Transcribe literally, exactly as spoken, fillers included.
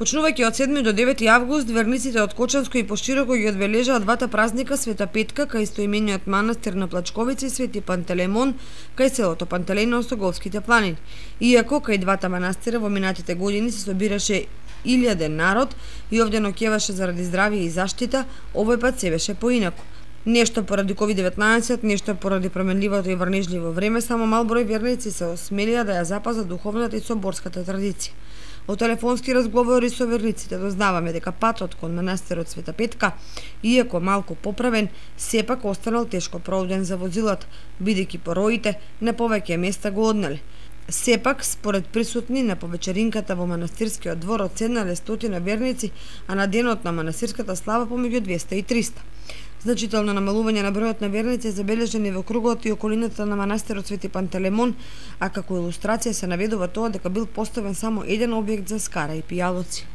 Почнувајќи од седми до девети август, верниците од Кочанско и пошироко ги одбележаат двата празника Света Петка кај истоимениот манастир на Плачковица и Свети Пантелеймон кај селото Пантелеј на Осоговските планини. Иако кај двата манастира во минатите години се собираше илјаден народ и овде ноќеваше заради здравје и заштита, овој пат се беше поинаку. Нешто поради ковид деветнаесет, нешто поради променливото и врнежливо време, само мал број верници се осмелија да ја запазат духовната и соборската традиција. Од телефонски разговори со верниците дознаваме дека патот кон манастирот Света Петка, иако малку поправен, сепак останал тешко проуден за возилата, бидејќи пороите на повеќе места го однеле. Сепак, според присутни на повечеринката во манастирскиот двор одседнале стотина верници, а на денот на манастирската слава помеѓу двеста и триста. Значително намалување на бројот на верници е забележени во кругот и околината на манастирот Свети Пантелеймон, а како илустрација се наведува тоа дека бил поставен само еден објект за скара и пијалоци.